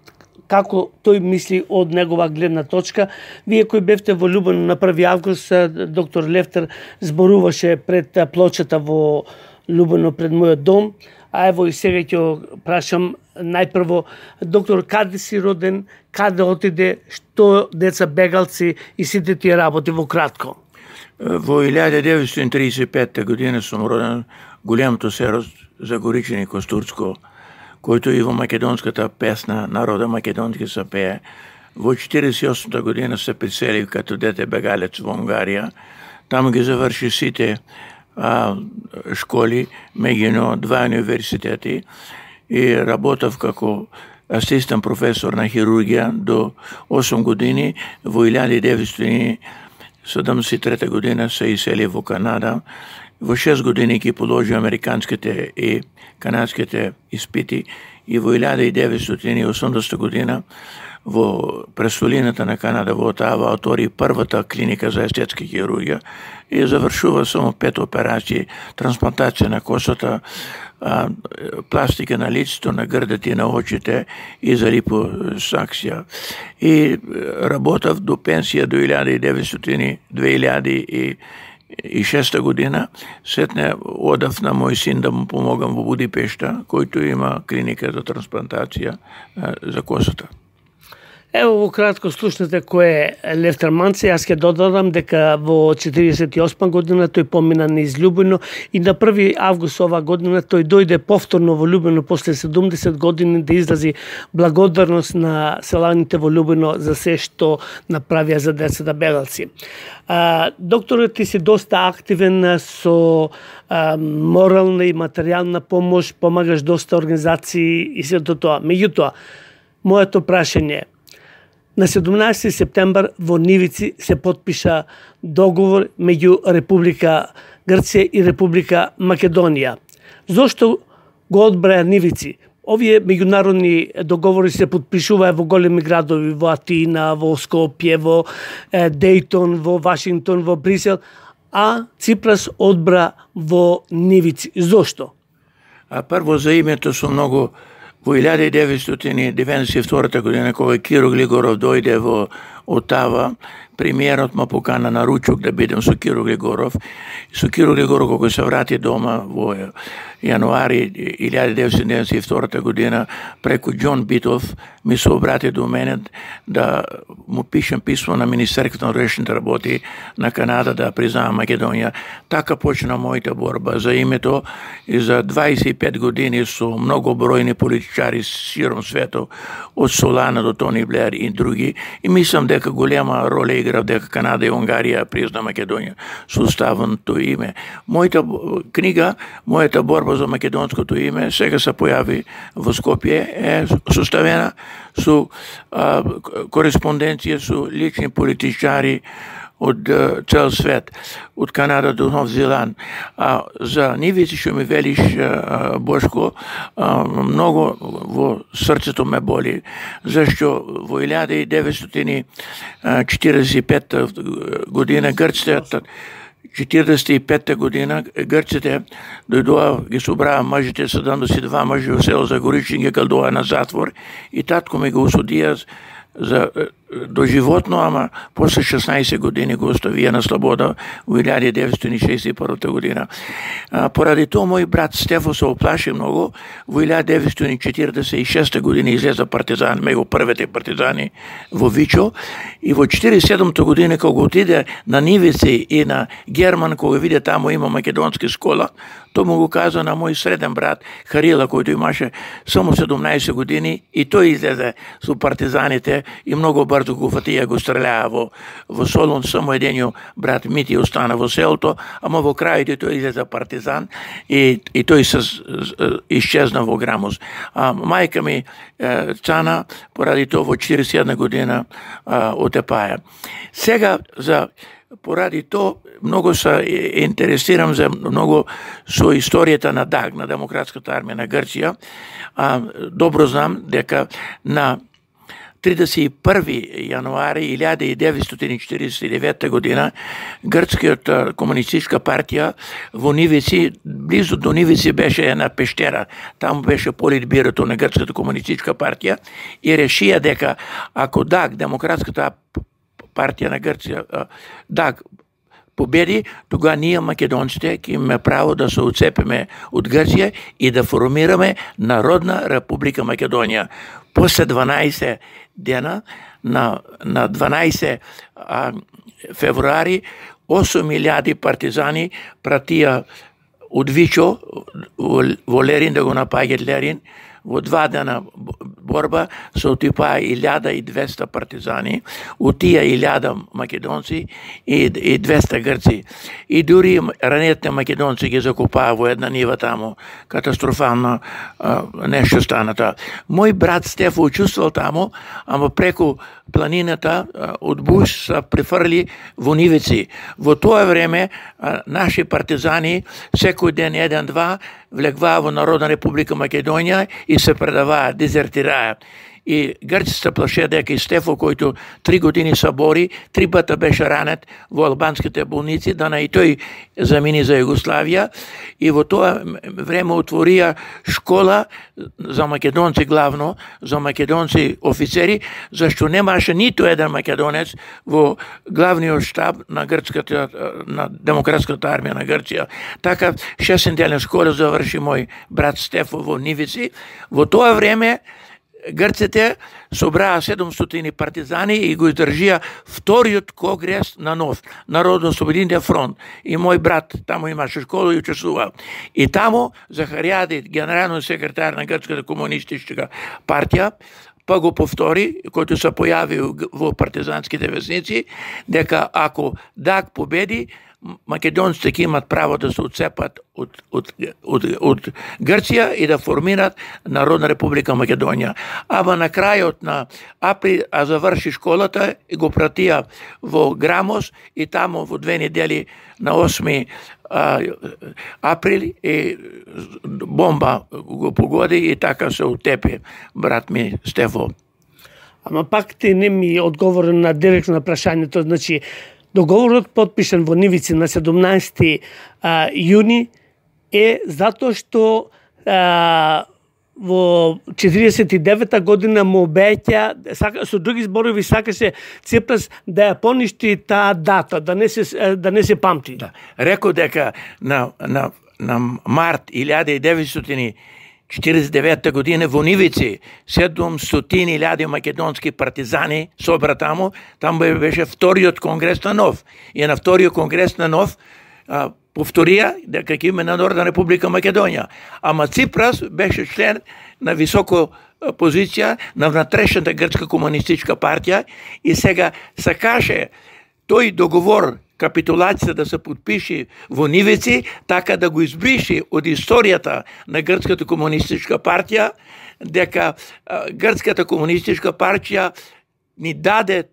како тој мисли од негова гледна точка. Вие кои бевте во Љубено на 1 август, доктор Левтер зборуваше пред плочата во Љубено пред мојот дом, а ево и сега ќе прашам најпрво, доктор, каде си роден, каде отиде, што деца бегалци и сите тие работи во кратко? Во 1935 година сум роден големото село Загоричени Костурцко, којто и во македонската песна народа македонски се пее. Во 48 година се приселив като дете бегалец во Унгарија. Таму ги заврши сите школи, меѓуно 2 универзитети, и работев како асистент професор на хирургија до 8 години. Во 1973 година се исели во Канада. Во 6 години ги положи американските и канадските испити и во 1980 година во престолината на Канада во Отава отвори првата клиника за естетска хирургија и завршува само 5 операции: трансплантација на косата, пластика на лицето, на грдите и на очите и за липосакција. И работав до пенсија до 2006 година. Сетне одав на мој син да му помогам во Будипешта, којто има клиника за трансплантација за косата. Ево во кратко слушнете кој е Левтер Манце. Јас ќе додадам дека во 48 година тој помина низ Љубено и на 1 август ова година тој дојде повторно во Љубено после 70 години да изрази благодарност на селаните во Љубено за се што направија за децата бегалци. Докторот ти си доста активен со морална и материјална помош, помагаш доста организации и сето тоа. Меѓутоа, моето прашање е: на 17 септембар во Нивици се потпиша договор меѓу Република Грција и Република Македонија. Зошто го одбраја Нивици? Овие меѓународни договори се потпишуваа во големи градови, во Атина, во Скопје, во Дејтон, во Вашингтон, во Брисел, а Ципрас одбра во нивици. Зошто? Прво за името со многу во 1992 година кога Киро Глигоров дојде во Отава, премиерот ме покана на ручок да бидем со Киро Глигоров. Со Киро Глигоров кога се врати дома во јануари 1992 година преку Џон Битов ми се обрати до мене да му пишем писмо на Министерството на внешните работи на Канада да признава Македонија. Така почна мојата борба за името и за 25 години со многобројни политичари широм светот, од Солана до Тони Блер и други. И мислам дека голема роля игра дека Канада и Унгарија призна Македонија со уставното име. Мојата книга, мојата борба за македонското име сега се појави во Скопје, е составена со кореспонденција со лични политичари од цел свет, од Канада до Нов Зеланд. За нивици што ми велиш, Бошко, многу во срцето ме боли, зашто во 1945 година грците 45 година грците дојдоа, ги собраа мажите 72 мажи во село Загоричин, ги калдоа на затвор и татко ми го осудија за доживотно, ама после 16 години го оставија на слобода во 1961 година. Поради тоа мој брат Стефо се оплаши многу. Во 1946 година излеза партизан, меѓу првите партизани во Вичо, и во 47 година кога отиде на нивици и на Герман, кога виде таму има македонски школа, тој му го каза на мој среден брат Харила, којто имаше само 17 години, и тој излезе со партизаните и многу брзо го фатија, го стрелаа во Солун. Само едениот брат Мити остана во селото, ама во крајот тој излезе партизан и тој се исчезна во Грамоз. Мајка ми Цана поради тоа во 41 година отепаја. Сега поради тоа многу се интересирам за многу со историјата на ДАГ, на Демократската армија на Грција. Добро знам дека на 31 јануари 1949 година Грцкиот комунистичка партија во Нивици, близу до Нивици беше една пештера, таму беше политбирото на Грцката комунистичка партија, и решија дека ако ДАГ, Демократската партија на Грција, ДАГ победи, тога ние македонците ќе имаме право да се отцепиме од Грција и да формираме Народна република Македонија. После 12 дена, на 12 февруари, 8.000 партизани пратија од Вичо во Лерин да го напаѓат Лерин. Во 2 дена борба се отипаа 1200 партизани, од тие 1000 македонци и 200 грци. И дури ранетите македонци ги закопаа во една нива таму. Катастрофално нешто станата. Мој брат Стефо учествувал таму, ама преку планината од Буш се префрли во нивици. Во тоа време наши партизани секој ден 1-2 влегваа во Народна република Македонија и се предаваа, дезертираа. И грците плаше дека и Стефо, којто 3 години се бори, 3 пати беше ранет во албанските болници, да и тој замини за Југославија, и во тоа време отворија школа за македонци главно, за македонци офицери, зашто немаше ниту еден македонец во главниот штаб на грцката, на Демократската армија на Грција. Така 6-неделна школа заврши мој брат Стефо во Нивици. Во тоа време грците собраа 700 партизани и го издржија вториот конгрес на НОФ, Народно-освободителен фронт. И мој брат таму имаше школа и учествувал. И таму Захаријади, генералниот секретар на Грцката комунистичка партија, па го повтори, којто се појави во партизанските весници, дека ако ДАГ победи, македонците ќе имат право да се отцепат од Грција и да формират Народна република Македонија. Ама на крајот на април заврши школата и го пратија во Грамоз, и таму во 2 недели на 8 април и бомба го погоди и така се утепи брат ми Стефо. Ама пак ти не ми одговори на директно на прашањето, значи Договорот подпишан во Нивици на 17 јуни е затоа што во 49-та година му обеќа, со други зборови сакаше Ципрас да ја поништи таа дата, да не се памти. Да. Рекол дека на март 1949 година во Нивици 700.000 македонски партизани собра таму беше вториот конгрес на НОВ. И на вториот конгрес на НОВ повторија дека ќе има на Нордна Република Македонија. Ама Ципрас беше член на високо позиција на внатрешната грчка комунистичка партија и сега сакаше тој договор, капитулацијата да се подпиши во Нивици, така да го избриши од историјата на грчката комунистичка партија, дека грчката комунистичка партија ни даде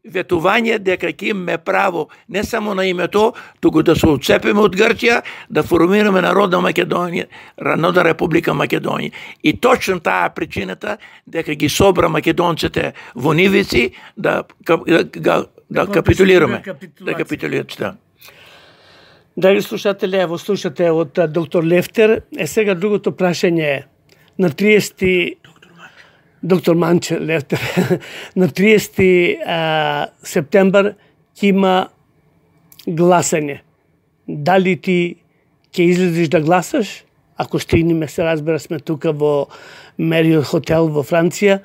ветување дека ќе имаме право не само на името, туку да се отцепиме од Грција, да формираме Народна Македонија, Народна Република Македонија. И точно таа причината дека ги собра македонците во Нивици да капитулираме. Да капитулираме. Драги слушатели, ево слушате од доктор Лефтер. Сега другото прашање е на 30 доктор Манче Лефтер, на 30 септембар ќе има гласање. Дали ти ќе излезеш да гласаш? Ако стигнеме, се разбира, сме тука во Мериот хотел во Франција,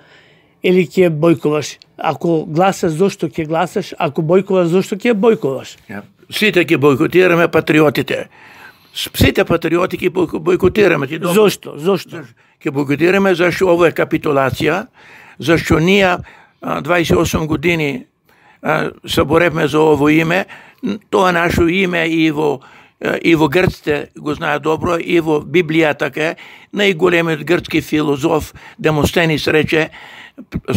или ќе бојкуваш? Ако гласаш, зошто ќе гласаш? Ако бојкуваш, зошто ќе бојкуваш? Сите ќе бојкотираме патриотите. Сите патриоти ќе бојкотираме. Зошто? Ќе бојкотираме зашто ова е капитулација, зашто ние 28 години се боревме за ово име. Тоа наше име и во грците го знаат добро, и во Библија така. Најголемиот грцки филозоф Демостенис рече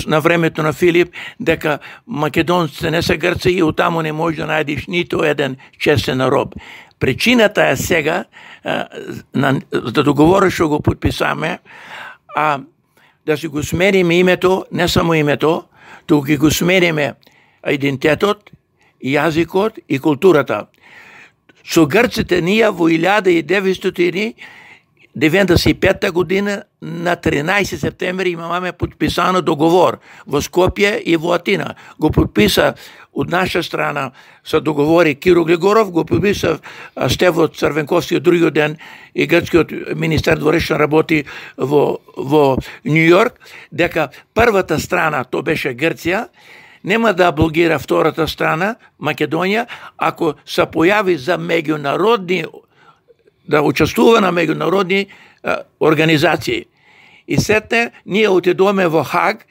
на времето на Филип дека македонците не се грци и оттаму не може да најдеш ниту еден честен роб. Причината е сега да договориш што го подписаме, да си го смениме името, не само името, туку ќе го смениме идентитетот, јазикот и културата. Со грците ние во 1995 година на 13 септември имаме подписано договор во Скопје и во Атина. Го подписа од наша страна се договори Киро Глигоров, го подписа Стево Црвенковски од другиот ден и грчкиот министер дворешен работи во Њу Јорк, дека првата страна, то беше Грција, нема да блокира втората страна, Македонија, ако се појави за меѓународни, да учествува на меѓународни организации. И сетне, ние отидоме во Хаг,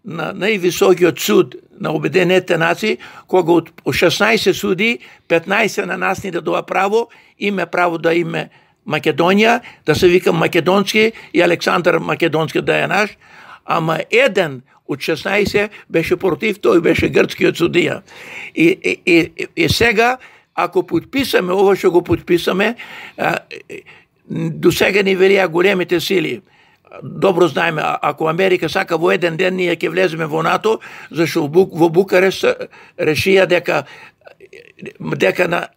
на највисокиот суд на Обединетите нации, кога од 16 суди, 15 на нас ни дадоа право, име право да име Македонија, да се вика Македонски и Александар Македонски да е наш, ама еден од 16 беше против, тој беше грчкиот судија. И сега, ако подписаме ова што го подписаме, до сега ни велија големите сили. Добро знаеме, ако Америка сака во еден ден ние ќе влеземе во НАТО, зашто во Букарест решија дека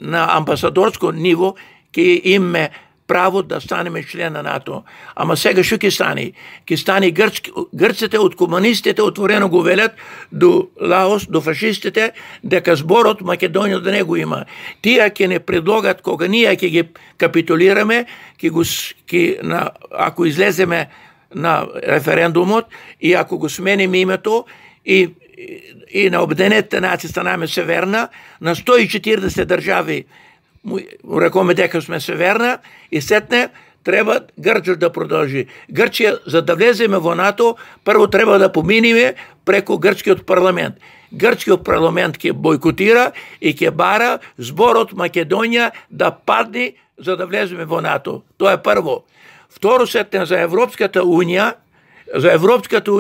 на амбасадорско ниво ќе имаме право да станеме член на НАТО. Ама сега што ќе стане? Ќе стане грците од комунистите отворено го велат до Лаос, до фашистите, дека зборот Македонија да не го има. Тие ќе не предлогат кога ние ќе ги капитулираме, ако излеземе на референдумот и ако го смениме името и на Обединетите нации станаме Северна, на 140 држави рекоме дека сме Северна и сетне треба Грчија да продолжи. Грчија, за да влеземе во НАТО, прво треба да поминиме преку грчкиот парламент. Грчкиот парламент ќе бојкотира и ќе бара зборот Македонија да падне за да влеземе во НАТО. Тоа е прво. Второ, сетне за Европската унија, Европската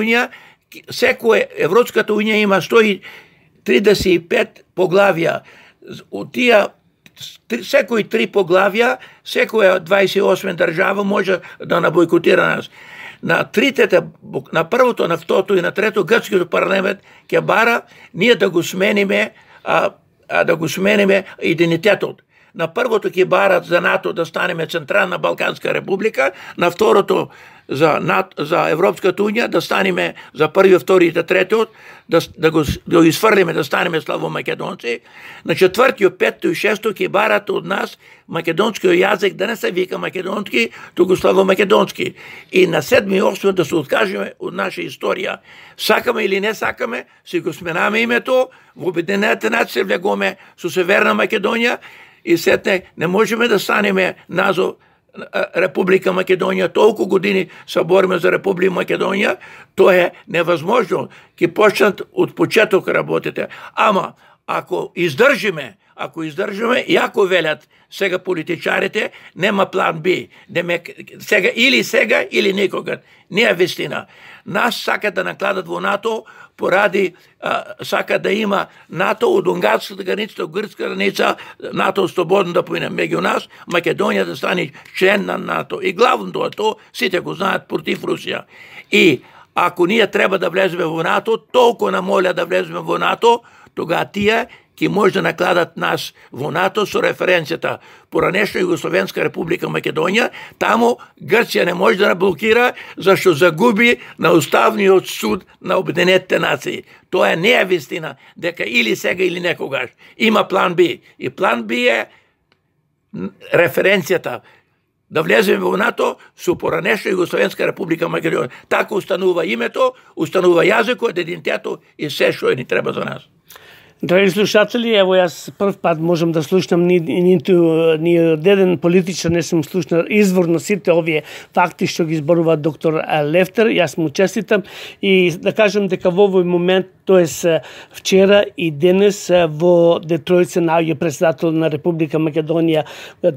унија има 135 поглавја. Од тие секои 3 поглавја, секоја 28 држава може да набојкотира нас. На првото, на второто и на трето грчкиот парламент ќе бара ние да го смениме да го смениме идентитетот. На првото ќе барат за НАТО да станеме Централна Балканска република, на второто за Европската унија да станеме за први, втори и третиот, да го изфрлиме да станеме славомакедонци. На четвртиот, петто и шесто ќе барат од нас македонскиот јазик да не се вика македонски, туку славомакедонски. И на седми и осми да се откажеме од наша историја. Сакаме или не сакаме, си го сменаме името, во Обединените нации влегоме со Северна Македонија и сетне не можеме да станеме назов Република Македонија. Толку години се бориме за Република Македонија, тоа е невозможно. Ќе почнат од почеток работите. Ама ако издржиме, и ако велят сега политичарите, нема план Б. Сега или никога. Не е вистина. Нас сакат да накладат во НАТО поради сака да има НАТО од унгарската граница до грчка граница, НАТО слободно да поине меѓу нас, Македонија да стане член на НАТО. И главното е тоа, сите го знаат, против Русија. И ако ние треба да влеземе во НАТО, толку нам моля да влеземе во НАТО, тога тие ќе може да накладат нас во НАТО со референцијата поранешна Југословенска република Македонија, таму Грција не може да блокира зашто загуби на Уставниот суд на Обединетите нации. Тоа не е вистина, дека или сега или некогаш. Има план Б. И план Б е референцијата да влеземе во НАТО со поранешна Југословенска република Македонија. Така устанува името, устанува јазикот, идентитетот и се што ни треба за нас. Драги слушатели, ево јас прв пат можам да слушнам ни одеден политичар, не сум слушнал изворно сите овие факти што ги зборува доктор Лефтер. Јас му честитам и да кажам дека во овој момент, тоест вчера и денес во Детройт се наоѓа председател на Република Македонија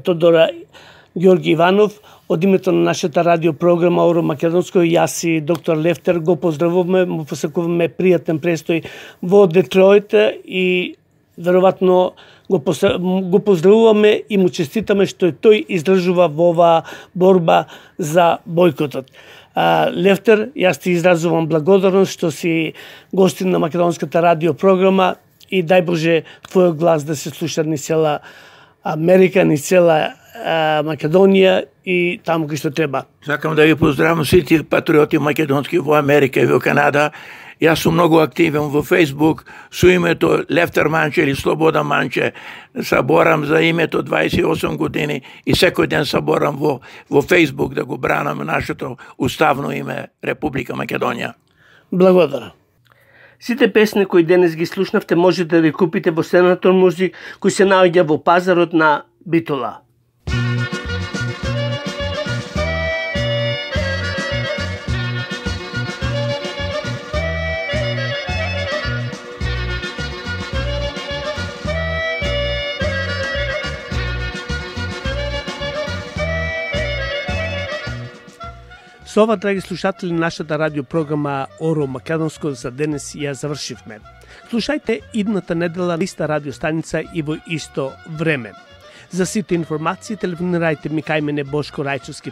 Тодор Георги Иванов. Од името на нашата радиопрограма Оро Македонско, јас и доктор Лефтер го поздравуваме, му посакуваме пријатен престој во Детройт и веројатно го поздравуваме и му честитаме што тој издржува во оваа борба за бојкотот. Лефтер, јас ти изразувам благодарност што си гостин на македонската радиопрограма и дај Боже твојот глас да се слуша ни цела Америка, ни цела Македонија и таму кај што треба. Сакам да ви поздравам сите патриоти македонски во Америка и во Канада. Јас сум многу активен во Facebook со името Лефтер Манче или Слобода Манче. Саборам за името 28 години и секој ден саборам во Facebook да го бранам нашето уставно име Република Македонија. Благодарам. Сите песни кои денес ги слушнавте можете да ги купите во Senator Music, кој се наоѓа во пазарот на Битола. Со ова, драги слушатели, нашата радиопрограма Оро Македонско за денес ја завршивме. Слушајте идната недела на иста радиостаница и во исто време. За сите информации телефонирајте ми кај мене Бошко Рајчовски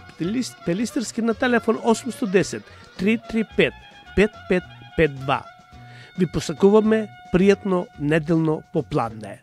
Пелистерски на телефон 810 335 5552. Ви посакуваме пријатно неделно попладне.